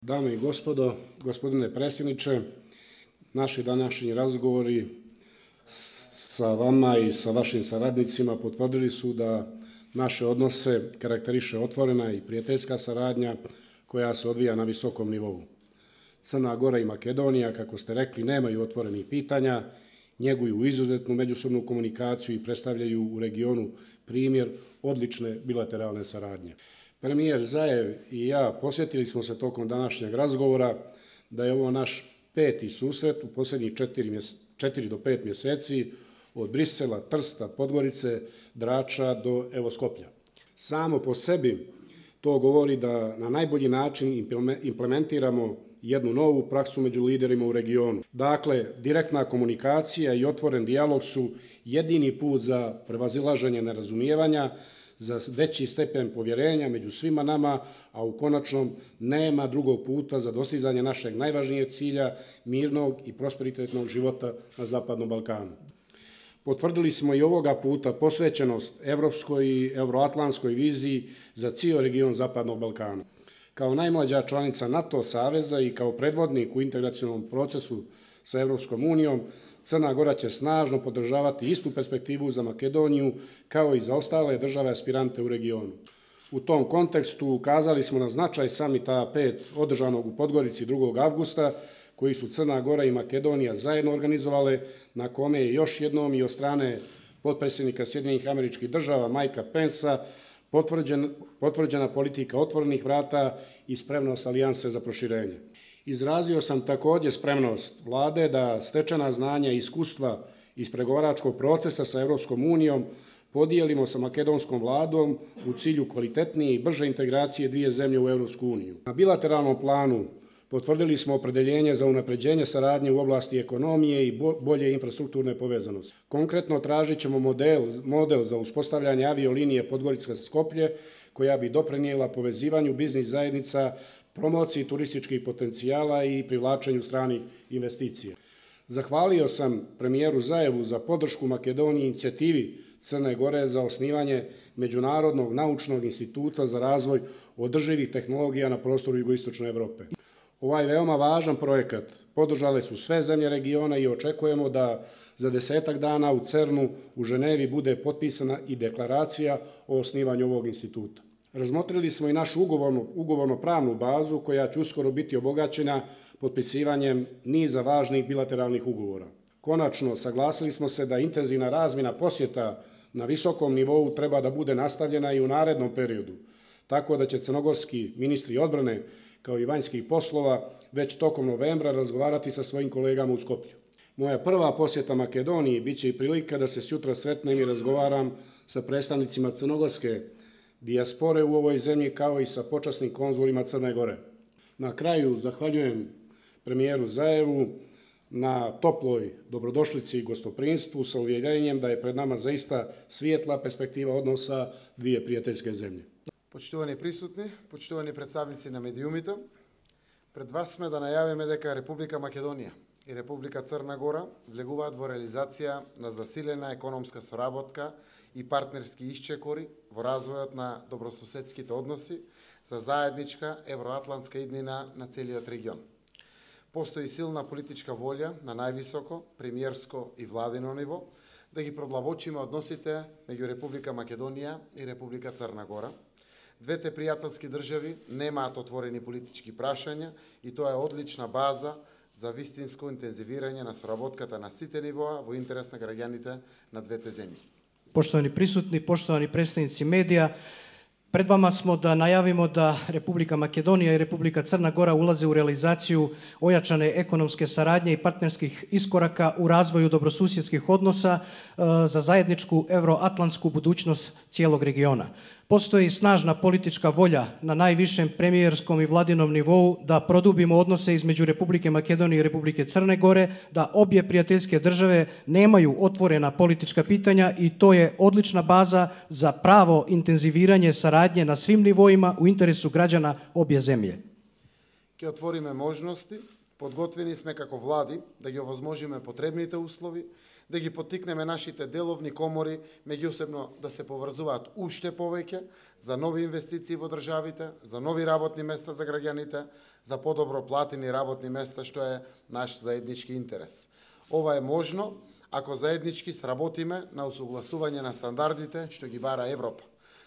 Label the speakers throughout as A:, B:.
A: Dame i gospodo, gospodine predsjedniče, naši današnji razgovori sa vama i sa vašim saradnicima potvrdili su da naše odnose karakteriše otvorena i prijateljska saradnja koja se odvija na visokom nivou. Crna Gora i Makedonija, kako ste rekli, nemaju otvorenih pitanja, njeguju izuzetnu međusobnu komunikaciju i predstavljaju u regionu primjer odlične bilateralne saradnje. Premijer Zaev i ja posjetili smo se tokom današnjeg razgovora da je ovo naš 5. susret u posljednjih 4 do 5 mjeseci od Brisela, Trsta, Podgorice, Drača do evo Skoplja. Samo po sebi to govori da na najbolji način implementiramo jednu novu praksu među liderima u regionu. Dakle, direktna komunikacija i otvoren dijalog su jedini put za prevazilaženje nerazumijevanja, za veći stepen povjerenja među svima nama, a u konačnom nema drugog puta za dostizanje našeg najvažnijeg cilja, mirnog i prosperitetnog života na Zapadnom Balkanu. Potvrdili smo i ovoga puta posvećenost evropskoj i euroatlantskoj viziji za cijel region Zapadnog Balkana. Kao najmlađa članica NATO saveza i kao predvodnik u integracionom procesu sa Evropskom unijom, Crna Gora će snažno podržavati istu perspektivu za Makedoniju kao i za ostale države aspirante u regionu. U tom kontekstu ukazali smo na značaj samita 5 održanog u Podgorici 2. avgusta, koji su Crna Gora i Makedonija zajedno organizovale, na kome je još jednom i od strane potpredsjednika Sjedinjenih Američkih Država Mikea Pensa potvrđena politika otvorenih vrata i spremnost alijanse za proširenje. Izrazio sam također spremnost vlade da stečena znanja i iskustva iz pregovaračkog procesa sa Evropskom unijom podijelimo sa makedonskom vladom u cilju kvalitetnije i brže integracije dvije zemlje u Evropsku uniju. Na bilateralnom planu potvrdili smo opredeljenje za unapređenje saradnje u oblasti ekonomije i bolje infrastrukturne povezanosti. Konkretno tražit ćemo model za uspostavljanje aviolinije Podgorica-Skoplje, koja bi doprinijela povezivanju biznis zajednica, promociji turističkih potencijala i privlačenju stranih investicija. Zahvalio sam premijeru Zajevu za podršku Makedoniji inicijativi Crne Gore za osnivanje Međunarodnog naučnog instituta za razvoj održivih tehnologija na prostoru jugoistočne Evrope. Ovaj veoma važan projekat podržale su sve zemlje regiona i očekujemo da za 10 dana u CERN-u u Ženevi bude potpisana i deklaracija o osnivanju ovog instituta. Razmotrili smo i našu ugovorno-pravnu bazu koja će uskoro biti obogaćena potpisivanjem niza važnih bilateralnih ugovora. Konačno, saglasili smo se da intenzivna razmjena posjeta na visokom nivou treba da bude nastavljena i u narednom periodu, tako da će crnogorski ministri odbrane kao i vanjskih poslova već tokom novembra razgovarati sa svojim kolegama u Skoplju. Moja prva posjeta Makedoniji biće i prilika da se sutra sretnem i razgovaram sa predstavnicima crnogorske dijaspore u ovoj zemlji kao i sa počasnim konzulima Crne Gore. Na kraju zahvaljujem premijeru Zajevu na toploj dobrodošlici i gostoprinstvu sa uvjerenjem da je pred nama zaista svijetla perspektiva odnosa dvije prijateljske zemlje.
B: Почитувани присутни, почитувани представници на медиумите, пред вас сме да најавиме дека Република Македонија и Република Црна Гора влегуваат во реализација на засилена економска соработка и партнерски исчекори во развојот на добрососедските односи за заедничка евроатлантска иднина на целиот регион. Постои силна политичка волја на највисоко, премиерско и владино ниво да ги продлабочиме односите меѓу Република Македонија и Република Црна Гора. Двете пријателски држави немаат отворени политички прашања и тоа е одлична база за вистинско интензивирање на соработката на сите нивоа во интерес на граѓаните на двете земји.
C: Poštovani prisutni, poštovani predstavnici medija, pred vama smo da najavimo da Republika Makedonija i Republika Crna Gora ulaze u realizaciju ojačane ekonomske saradnje i partnerskih iskoraka u razvoju dobrosusjedskih odnosa za zajedničku evroatlantsku budućnost cijelog regiona. Postoji snažna politička volja na najvišem premijerskom i vladinom nivou da produbimo odnose između Republike Makedonije i Republike Crne Gore, da obje prijateljske države nemaju otvorena politička pitanja i to je odlična baza za pravo intenziviranje saradnje na svim nivoima u interesu građana obje земје.
B: Ке отвориме можности, подготвени сме како влади да ги овозможиме потребните услови, да ги поттикнеме нашите деловни комори меѓусебно да се поврзуваат уште повеќе за нови инвестиции во државите, за нови работни места за граѓаните, за подобро платени работни места, што е наш заеднички интерес. Ова е можно ако заеднички сработиме на усогласување на стандардите што ги бара Европа,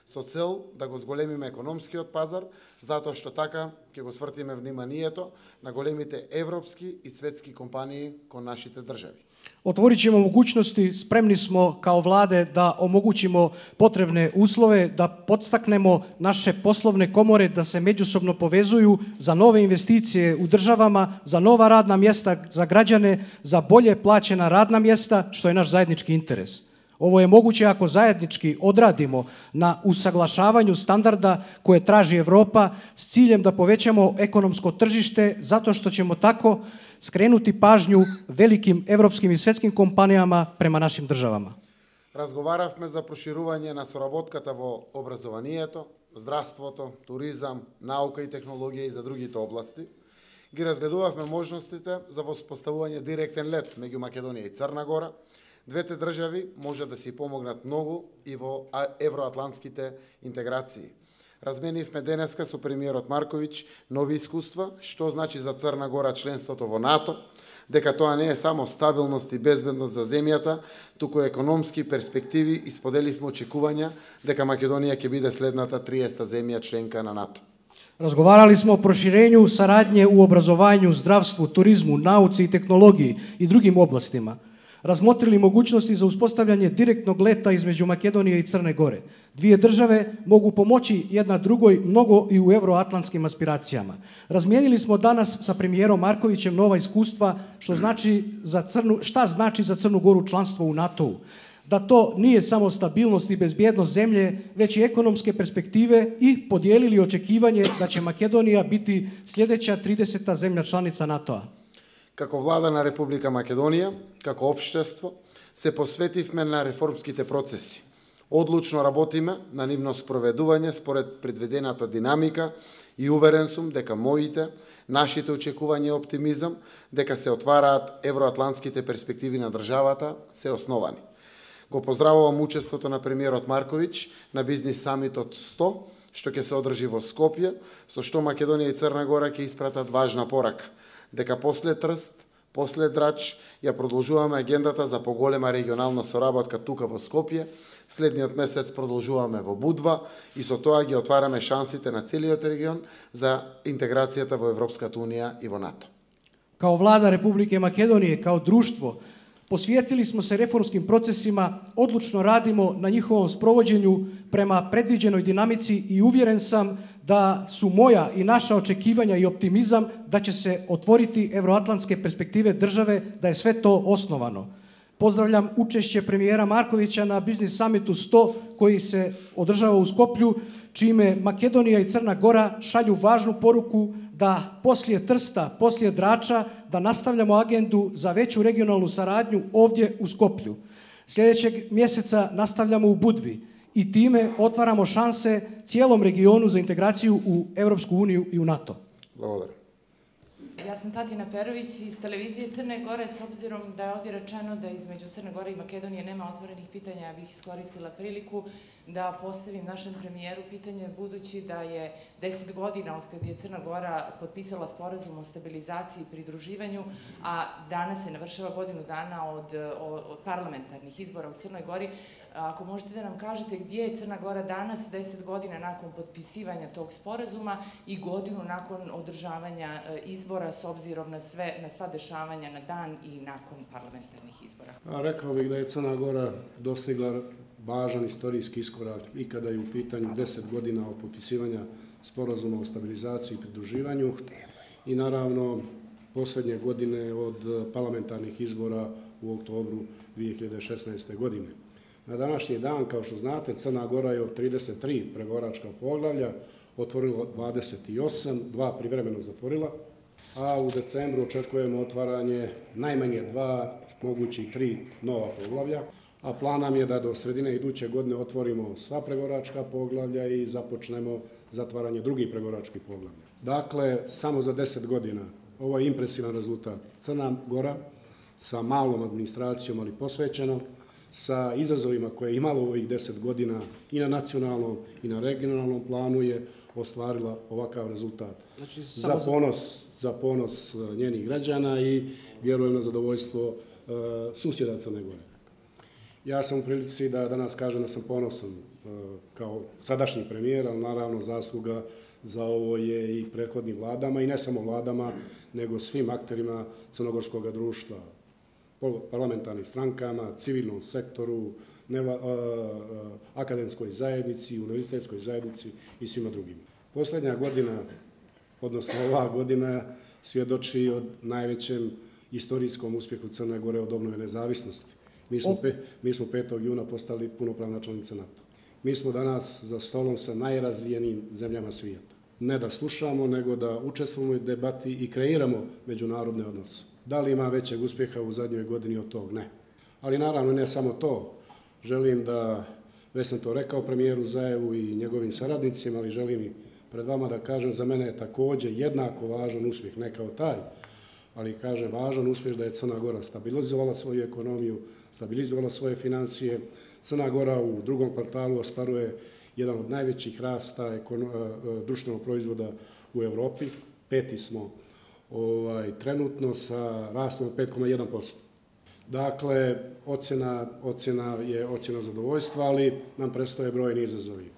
B: со цел да го зголемиме економскиот пазар, затоа што така ќе го свртиме вниманието на големите европски и светски компании кон нашите држави.
C: Otvorit ćemo mogućnosti, spremni smo kao vlade da omogućimo potrebne uslove, da podstaknemo naše poslovne komore da se međusobno povezuju za nove investicije u državama, za nova radna mjesta za građane, za bolje plaćena radna mjesta, što je naš zajednički interes. Ovo je moguće ako zajednički odradimo na usaglašavanju standarda koje traži Evropa s ciljem da povećamo ekonomsko tržište, zato što ćemo tako skrenuti pažnju velikim evropskim i svetskim kompanijama prema našim državama.
B: Разговаравме за проширување на соработката во образованието, здравството, туризам, наука и технологија и за другите области. Ги разгледувавме можностите за воспоставување директен лет меѓу Македонија и Црна Гора. Двете држави може да си помогнат многу и во евроатлантските интеграции. Разменивме денеска со премиерот Марковиќ нови искуства, што значи за Црна Гора членството во НАТО, дека тоа не е само стабилност и безбедност за земјата, туку економски перспективи и споделивме очекувања дека Македонија ќе биде следната 30-та земја членка на НАТО.
C: Разговарали smo o proširenju saradnje u obrazovanju, zdravstvu, turizmu, nauci i tehnologiji i drugim oblastima. Razmotrili mogućnosti za uspostavljanje direktnog leta između Makedonije i Crne Gore. Dvije države mogu pomoći jedna drugoj mnogo i u euroatlantskim aspiracijama. Razmijenili smo danas sa premijerom Markovićem nova iskustva šta znači za Crnu Goru članstvo u NATO-u. Da to nije samo stabilnost i bezbjednost zemlje, već i ekonomske perspektive i podijelili očekivanje da će Makedonija biti sljedeća 30. zemlja članica NATO-a.
B: Како влада на Република Македонија, како општество, се посветивме на реформските процеси. Одлучно работиме на нивно спроведување според предвидената динамика и уверен сум дека нашите очекувања и оптимизам, дека се отвараат евроатлантските перспективи на државата, се основани. Го поздравувам учеството на премиерот Марковиќ на бизнис самитот 100, што ќе се одржи во Скопје, со што Македонија и Црна Гора ќе испратат важна порака, дека после Трст, после Драч, ја продолжуваме агендата за поголема регионална соработка тука во Скопје, следниот месец продолжуваме во Будва и со тоа ги отвараме шансите на целиот регион за интеграцијата во Европската Унија и во НАТО.
C: Kao vlada Republike Makedonije, kao društvo, posvijetili smo se reformskim procesima, odlučno radimo na njihovom sprovođenju prema predviđenoj dinamici i uvjeren sam da su moja i naša očekivanja i optimizam da će se otvoriti evroatlantske perspektive države, da je sve to osnovano. Pozdravljam učešće premijera Markovića na Biznis samitu 100 koji se održava u Skoplju, čime Makedonija i Crna Gora šalju važnu poruku da poslije Trsta, poslije Drača, da nastavljamo agendu za veću regionalnu saradnju ovdje u Skoplju. Sljedećeg mjeseca nastavljamo u Budvi i time otvaramo šanse cijelom regionu za integraciju u Europsku uniju i u NATO.
B: Благодарам.
D: Ja sam Tatjana Perović iz televizije Crne Gore. S obzirom da je ovdje rečeno da između Crne Gore i Makedonije nema otvorenih pitanja, ja bih iskoristila priliku da postavim našem premijeru pitanje, budući da je 10 godina od kad je Crna Gora potpisala sporazum o stabilizaciji i pridruživanju, a danas se navršava godinu dana od parlamentarnih izbora u Crnoj Gori. Ako možete da nam kažete gdje je Crna Gora danas, 10 godina nakon potpisivanja tog sporazuma i godinu nakon održavanja izbora, s obzirom na sva dešavanja na dan i nakon parlamentarnih izbora?
A: Rekao bih da je Crna Gora dostigla važan istorijski iskorak i kada je u pitanju 10 godina od potpisivanja sporazuma o stabilizaciji i pridruživanju i naravno posljednje godine od parlamentarnih izbora u oktobru 2016. godine. Na današnji dan, kao što znate, Crna Gora je od 33 pregovaračka poglavlja otvorila 28, 2 privremeno zatvorila, a u decembru očekujemo otvaranje najmanje 2, mogućih 3 nova poglavlja, a plan nam je da do sredine iduće godine otvorimo sva pregovaračka poglavlja i započnemo zatvaranje drugih pregovaračkih poglavlja. Dakle, samo za 10 godina, ovo je impresivan rezultat. Crna Gora sa malom administracijom, ali posvećeno, sa izazovima koje je imalo ovih 10 godina i na nacionalnom i na regionalnom planu je ostvarila ovakav rezultat. Znači, za ponos njenih građana i vjerujem na zadovoljstvo susjeda Crne Gore. Ja sam u prilici da danas kažem da sam ponosan kao sadašnji premijer, ali naravno zasluga za ovo je i prethodnim vladama i ne samo vladama, nego svim akterima crnogorskog društva, parlamentarnim strankama, civilnom sektoru, akademskoj zajednici, univerzitetskoj zajednici i svima drugima. Posljednja godina, odnosno ova godina, svjedoči o najvećem istorijskom uspjehu Crne Gore od obnove nezavisnosti. Mi smo 5. juna postali punopravna članica NATO. Mi smo danas za stolom sa najrazvijenijim zemljama svijeta. Ne da slušamo, nego da učestvujemo u debati i kreiramo međunarodne odnose. Da li ima većeg uspjeha u zadnjoj godini od tog? Ne. Ali naravno ne samo to. Želim da, već sam to rekao premijeru Zaevu i njegovim saradnicima, ali želim i pred vama da kažem, za mene je također jednako važan uspjeh, ne kao taj, ali kažem važan uspjeh da je Crna Gora stabilizovala svoju ekonomiju, stabilizovala svoje financije. Crna Gora u drugom kvartalu ostvaruje jedan od najvećih rasta društvenog proizvoda u Evropi. 5. smo trenutno sa rastom od 5,1%. Dakle, ocjena je ocjena zadovoljstva, ali nam predstoje brojni izazovi.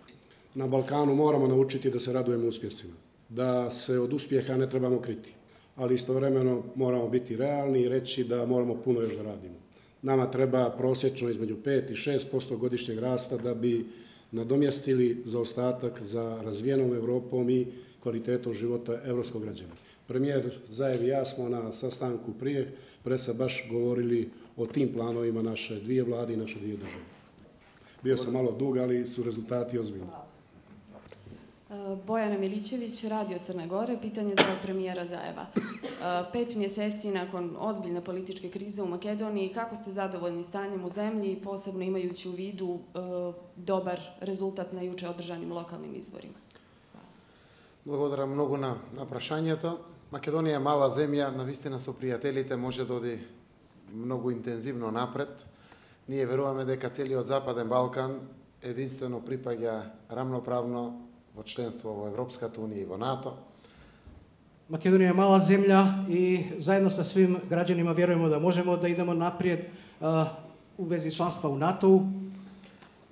A: Na Balkanu moramo naučiti da se radujemo uspjesima, da se od uspjeha ne trebamo kriti, ali istovremeno moramo biti realni i reći da moramo puno još da radimo. Nama treba prosječno između 5 i 6% godišnjeg rasta da bi nadomjestili zaostatak za razvijenom Evropom i kvalitetom života evropskog građana. Premijer Zaev i ja smo na sastanku prije baš govorili o tim planovima naše dvije vlade i naše dvije države. Bio sam malo dug, ali su rezultati ozbiljni.
E: Bojana Milićević, Radio Crne Gore, pitanje za premijera Zaeva. 5 mjeseci nakon ozbiljne političke krize u Makedoniji, kako ste zadovoljni stanjem u zemlji, posebno imajući u vidu dobar rezultat na juče održanim lokalnim izborima?
B: Благодарам многу на прашањето. Македонија е мала земја, навистина со пријателите може да оди многу интензивно напред. Ние веруваме дека целиот Западен Балкан единствено припаѓа рамноправно во членство во Европската унија и во НАТО.
C: Македонија е мала земја и заедно со свим граѓанима веруваме да можеме да идеме напред у вези членство у НАТО.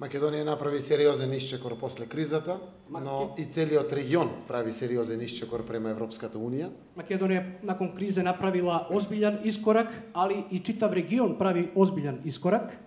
B: Македонија направи сериозен исчекор после кризата, но и целиот регион прави сериозен исчекор према Европската унија.
C: Македонија након кризе направила озбилјан искорак, али и читав регион прави озбилјан искорак.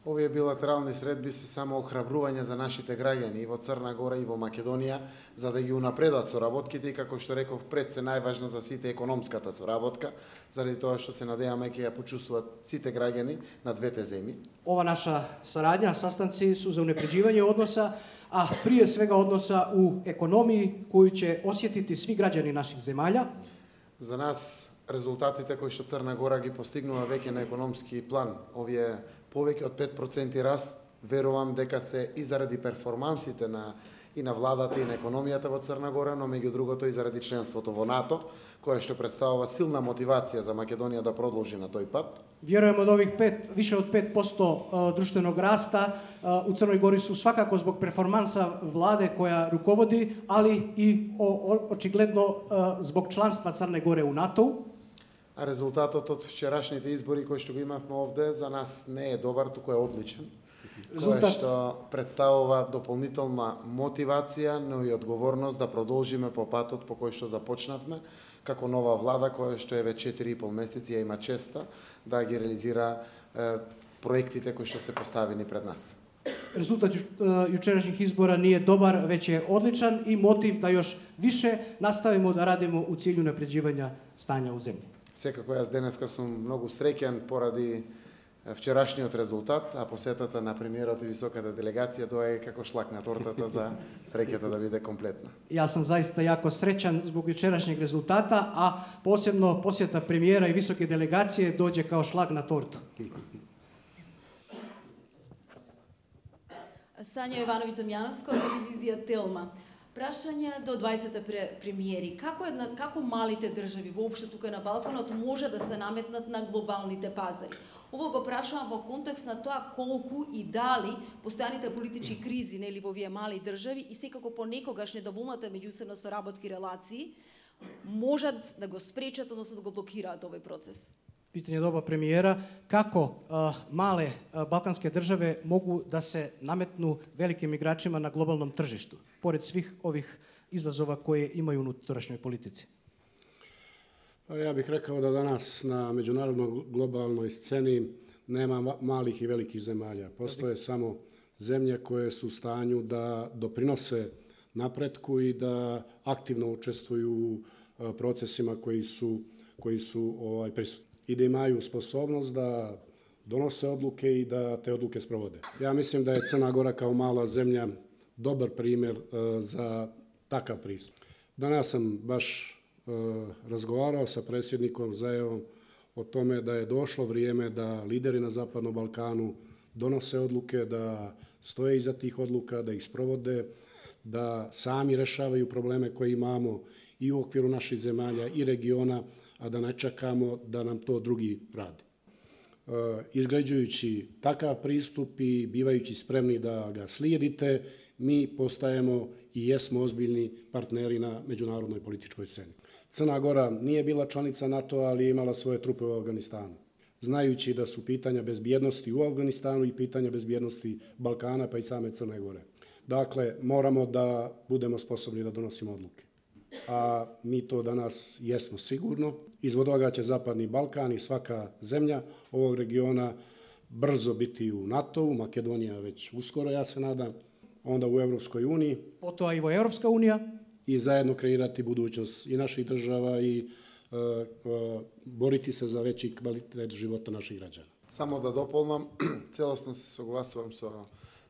B: Овие билатерални средби се само охрабрување за нашите граѓани и во Црна Гора и во Македонија, за да ги унапредат соработките и, како што реков пред, се најважна за сите економската соработка, заради тоа што се надеваме ќе ја почувствуваат сите граѓани на двете земји.
C: Ова наша сарадња, састанци су за унапреđivање односа, а прие свега односа у економии кои ќе осетити сви граѓани наших земјалја.
B: За нас резултатите кои што Црна Гора ги постигнува веќе на економски план, овие повеќе од 5% раст, верувам дека се и заради перформансите и на владата и на економијата во Црна Гора, но меѓу другото и заради членството во НАТО, кое што представува силна мотивација за Македонија да продолжи на тој пат.
C: Верувам од ових више од 5% друштвеног раста у Црној Гори су свакако због перформанса владе која руководи, али и очигледно због членства Црне Горе у НАТО.
B: А резултатот од вчерашните избори кои што го имавме овде за нас не е добар, туку е одличен. Кој што представува дополнителна мотивација, но и одговорност да продолжиме по патот по кој што започнавме, како нова влада која што е веќе 4,5 месеци ја има честа да ги реализира проектите кои што се поставени пред нас.
C: Резултат јучерашних избора не е добар, веќе е одличен и мотив да још више наставиме да радиме у целју унапреđivања стања у земја.
B: Секако јас денеска сум многу среќен поради вчерашниот резултат, а посетата на премиерот и високата делегација доаѓа како шлак на тортата за среќата да биде комплетна.
C: Јас сум заиста јако среќан због јучерашниот резултата, а посебно посета премиера и високи делегација доđe као шлак на торту.
F: Сања Јовановиќ Домјановска, телевизија Телма. Прашање до 20 премиери. Како малите држави воопшто тука на Балканот може да се наметнат на глобалните пазари? Ово го прашувам во контекст на тоа колку и дали постојаните политички кризи нели во овие мали држави и секако понекогаш недоволната меѓусебна соработки релации можат да го спречат, односно да го блокираат овој процес.
C: Питање до премиера, како мале балкански држави могу да се наметну великим играчима на глобалном тржишту, поред свих ових изазова кои имају унутрешној политици?
A: Ja bih rekao da danas na međunarodnoj globalnoj sceni nema malih i velikih zemalja. Postoje samo zemlje koje su u stanju da doprinose napretku i da aktivno učestvuju u procesima koji su prisutni. I da imaju sposobnost da donose odluke i da te odluke sprovode. Ja mislim da je Crna Gora kao mala zemlja dobar primjer za takav pristup. Danas sam baš razgovarao sa predsjednikom Zaevom o tome da je došlo vrijeme da lideri na Zapadnom Balkanu donose odluke, da stoje iza tih odluka, da ih sprovode, da sami rešavaju probleme koje imamo i u okviru naših zemalja i regiona, a da ne čekamo da nam to drugi radi. Izgrađujući takav pristup i bivajući spremni da ga slijedite, mi postajemo i jesmo ozbiljni partneri na međunarodnoj političkoj sceni. Crna Gora nije bila članica NATO, ali je imala svoje trupe u Afganistanu. Znajući da su pitanja bezbjednosti u Afganistanu i pitanja bezbjednosti Balkana, pa i same Crne Gore. Dakle, moramo da budemo sposobni da donosimo odluke. A mi to danas jesmo sigurno. Izvod toga će Zapadni Balkan i svaka zemlja ovog regiona brzo biti u NATO-u, Makedonija već uskoro, ja se nadam, onda u Evropskoj uniji.
C: Potom i Evropska unija.
A: I zajedno kreirati budućnost i naših država i boriti se za veći kvalitet života naših građana.
B: Само да дополнам, целосно се согласувам со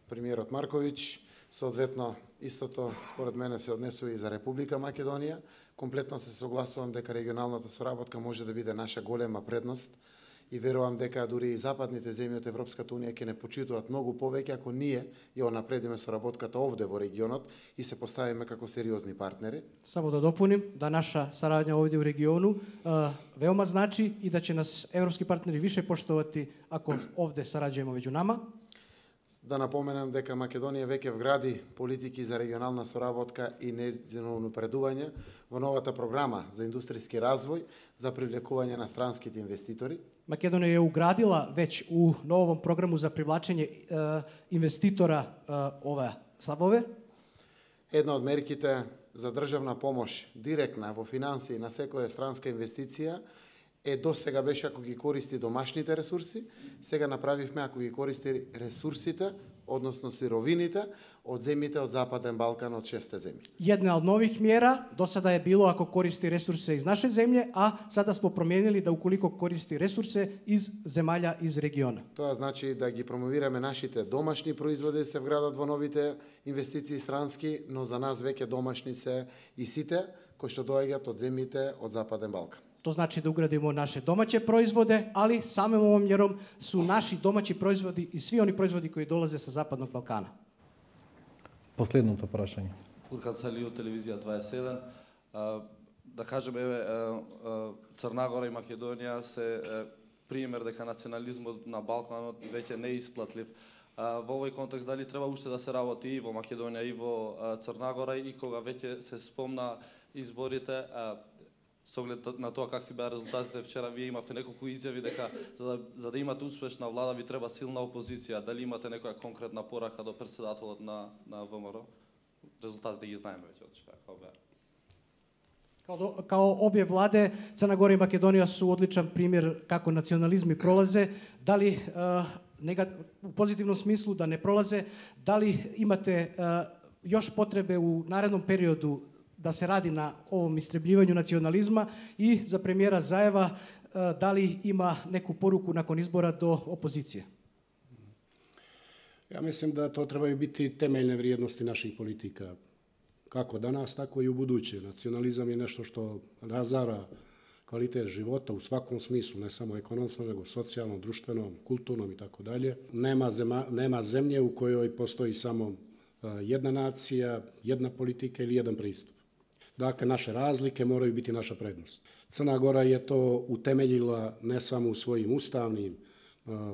B: премиерот Марковиќ, соодветно истото според мене се однесува и за Република Македонија. Комплетно се согласувам дека регионалната соработка може да биде наша голема предност и верувам дека дури и западните земји од Европската унија ќе не почитуваат многу повеќе ако ние ја напредиме соработката овде во регионот и се поставиме како сериозни партнери.
C: Само да допуним да наша сарадња овде у региону веома значи и да ќе нас европски партнери више поштовати ако овде сараѓujemo меѓу нама.
B: Да напоменам дека Македонија веќе вгради политики за регионална соработка и нејзино унапредување во новата програма за индустријски развој за привлекување на странските инвеститори.
C: Македонија е уградила веќе у новом програму за привлачење инвеститора ова слабове.
B: Една од мерките за државна помош директна во финансии на секоја странска инвестиција до сега беше ако ги користи домашните ресурси, сега направивме ако ги користи ресурсите, односно сировините од земјите од Западен Балкан од 6 земји.
C: Една од нових мера до сада е било ако користи ресурсе из наше земје, а сада смо променили да уколико користи ресурсе из земјалја из региона.
B: Тоа значи да ги промовираме нашите домашни производи се вградат во новите инвестиции странски, но за нас веќе домашни се и сите кои што доаѓаат од земјите од Западен Балкан.
C: To znači da ugradimo naše domaće proizvode, ali samim ovom mjerom su naši domaći proizvodi i svi oni proizvodi koji dolaze sa Zapadnog Balkana.
G: Последното прашање.
H: Фуркан Салију, телевизија 27. Да кажеме, Црна Гора и Македонија се пример дека национализмот на Балканот веќе не е исплатлив. Во овој контекст дали треба уште да се работи и во Македонија и во Црна Гора и кога веќе се спомна изборите, со оглед на тоа какви беа резултатите вчера, вие имавте неколку изјави дека за да имате успешна влада ви треба силна опозиција. Дали имате некоја конкретна порака до претседателот на ВМРО? Резултатите ги знаеме веќе од вчера, како беа.
C: Kao obje vlade, Crna Gora i Makedonija su odličan primjer kako nacionalizmi prolaze, da li u pozitivnom smislu da ne prolaze, da li imate još potrebe u narednom periodu da se radi na ovom istrebljivanju nacionalizma i za premijera Zaeva da li ima neku poruku nakon izbora do opozicije?
A: Ja mislim da to trebaju biti temeljne vrijednosti naših politika. Kako danas, tako i u buduće. Nacionalizam je nešto što razara kvalitet života u svakom smislu, ne samo ekonomskom, nego socijalnom, društvenom, kulturnom i tako dalje. Nema zemlje u kojoj postoji samo jedna nacija, jedna politika ili jedan pristup. Dakle, naše razlike moraju biti naša prednost. Crna Gora je to utemeljila ne samo u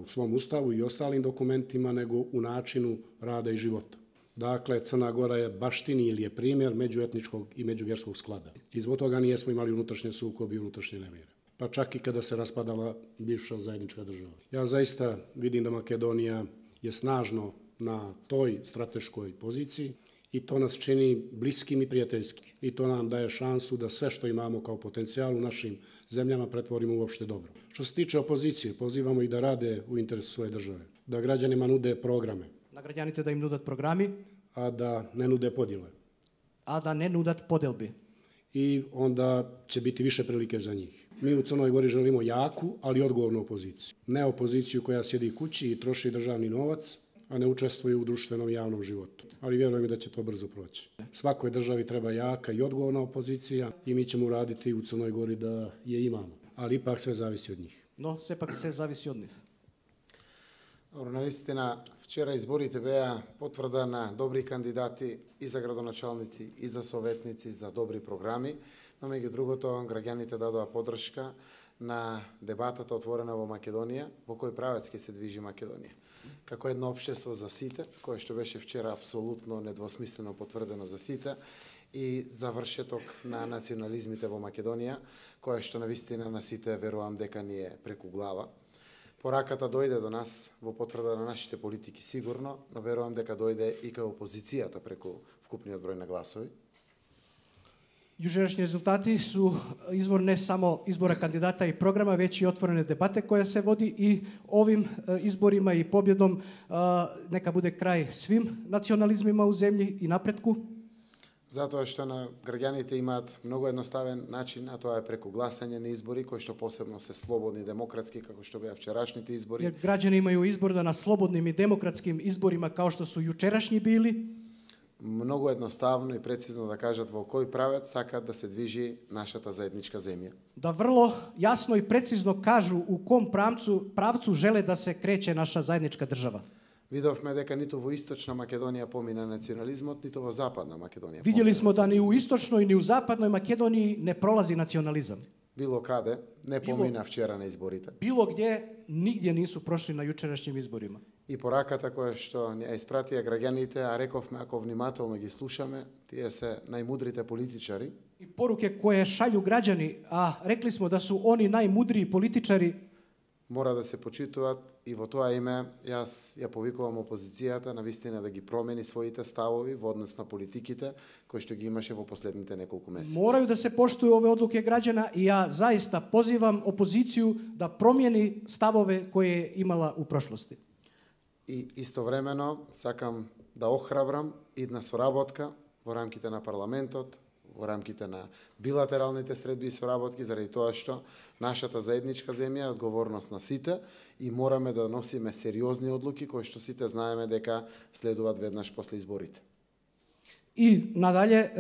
A: u svom ustavu i ostalim dokumentima, nego u načinu rada i života. Dakle, Crna Gora je baštini ili je primjer međuetničkog i međuvjerskog sklada. I zbog toga nijesmo imali unutrašnje sukobe i unutrašnje nemire. Pa čak i kada se raspadala bivša zajednička država. Ja zaista vidim da Makedonija je snažno na toj strateškoj poziciji i to nas čini bliskim i prijateljskim. I to nam daje šansu da sve što imamo kao potencijal u našim zemljama pretvorimo uopšte dobro. Što se tiče opozicije, pozivamo ih da rade u interesu svoje države, da građanima nude programe.
C: Na građanite da im nudat programi,
A: a da ne nude podjele.
C: A da ne nudat podelbi.
A: i onda će biti više prilike za njih. Mi u Crnoj Gori želimo jaku, ali odgovornu opoziciju. Ne opoziciju koja sjedi kući i troši državni novac, a ne učestvuje u društvenom i javnom životu. Ali vjerujem da će to brzo proći. Svakoj državi treba jaka i odgovorna opozicija i mi ćemo uraditi u Crnoj Gori da je imamo. Ali ipak sve zavisi od njih.
C: Но сепак се зависи од нив.
B: Добро, навистина, вчера изборите беа потврда на добри кандидати и за градоначалници, и за советници, за добри програми, но меѓу другото, граѓаните дадоа поддршка на дебатата отворена во Македонија, во кој правец ќе се движи Македонија. Како едно општество за сите, кое што беше вчера апсолутно недвосмислено потврдено за сите, и завршеток на национализмите во Македонија, кое што навистина на сите верувам дека ни е преку глава. Пораката дојде до нас во потврда на нашите политики сигурно, но верувам дека дојде и кај опозицијата преку вкупниот број на гласови.
C: Јужерашни резултати су извор не само избора кандидата и програма, веќе и отворена дебата која се води и овим изборима и победом нека буде крај свим национализмима у земји и напретку.
B: Затоа што на граѓаните имаат многу едноставен начин, а тоа е преку гласање на избори, кои што посебно се слободни и демократски, како што беа вчерашните избори.
C: Jer građani imaju izbor da na slobodnim i demokratskim izborima kao što su jučerašnji bili,
B: Многу едноставно и прецизно да кажат во кој правец сакаат да се движи нашата заедничка земја.
C: da vrlo jasno i precizno kažu u kom pravcu žele da se kreće naša zajednička država.
B: Видовме дека ниту во Источна Македонија помина национализмот, ниту во Западна Македонија.
C: Vidjeli smo
B: помина
C: da ni u istočnoj ni u zapadnoj Makedoniji ne prolazi nacionalizam.
B: Било каде не помина вчера на изборите.
C: Bilo gdje, nigdje nisu prošli na jučerašnjim izborima.
B: И пораката која што ни ја испратија граѓаните, а рековме ако внимателно ги слушаме, тие се најмудрите политичари.
C: I poruke koje šalju građani, a rekli smo da su oni najmudriji političari,
B: Мора да се почитуваат и во тоа име јас ја повикувам опозицијата навистина да ги промени своите ставови во однос на политиките кои што ги имаше во последните неколку месеци.
C: moraju da se poštuju ove odluke građana i ja zaista pozivam opoziciju da promijeni stavove koje je imala u prošlosti.
B: И истовремено сакам да охрабрам идна соработка во рамките на парламентот, во рамките на билатералните средби и соработки, заради тоа што нашата заедничка земја е одговорност на сите и мораме да носиме сериозни одлуки кои што сите знаеме дека следуваат веднаш после изборите.
C: I nadalje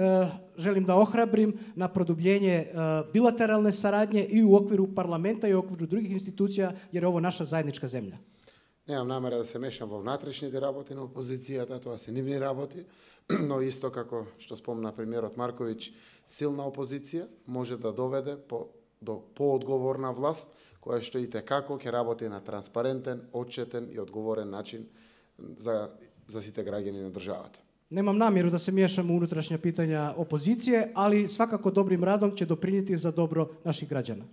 C: želim da ohrabrim na produbljenje bilateralne saradnje i u okviru parlamenta i u okviru drugih institucija, jer je ovo naša zajednička zemlja.
B: Немам намера да се мешам во внатрешните работи на опозицијата, тоа се нивни работи, но исто како што спомна премиерот Марковиќ, силна опозиција може да доведе до поодговорна власт, која што и текако ќе работи на транспарентен, отчетен и одговорен начин за сите граѓани на државата.
C: Nemam namjeru da se miješam u unutrašnja pitanja opozicije, ali svakako dobrim radom će doprinijeti za dobro naših građana.